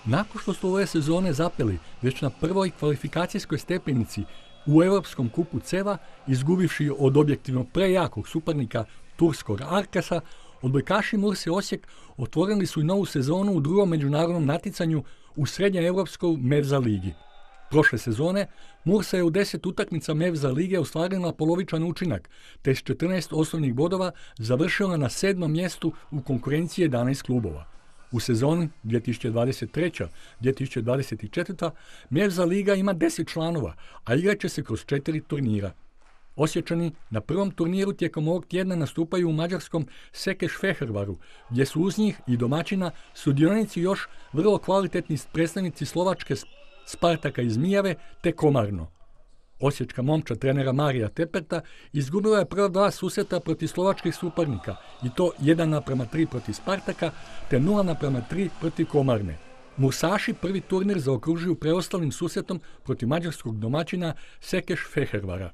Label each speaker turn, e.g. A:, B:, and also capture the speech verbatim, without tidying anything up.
A: Nakon što su ove sezone zapeli već na prvoj kvalifikacijskoj stepenici u Europskom kupu Ceva, izgubivši od objektivno prejakog suparnika turskog Arkasa, odbojkaši Murse Osijek otvorili su i novu sezonu u drugom međunarodnom natjecanju u srednjeevropskoj Mevza ligi. Prošle sezone Mursa je u deset utakmica Mevza lige ostvarila polovičan učinak, te s četrnaest osnovnih bodova završila na sedmom mjestu u konkurenciji jedanaest klubova. U sezoni dvije tisuće dvadeset treće dvije tisuće dvadeset četvrte. Mevza liga ima deset članova, a igrat će se kroz četiri turnira. Osječani na prvom turniru tijekom ovog tjedna nastupaju u mađarskom Sekeš-Fehervaru, gdje su uz njih i domaćina sudionici još vrlo kvalitetni predstavnici Slovačke Spartaka iz Mijave te Komarno. Osječka momčad trenera Marija Teperta izgubila je prva dva susreta protiv slovačkih suparnika, i to jedan naprema tri protiv Spartaka te nula naprema tri protiv Komarne. Mursaši prvi turnir zaokružuju preostalim susretom protiv mađarskog domaćina Sekeš-Fehervara.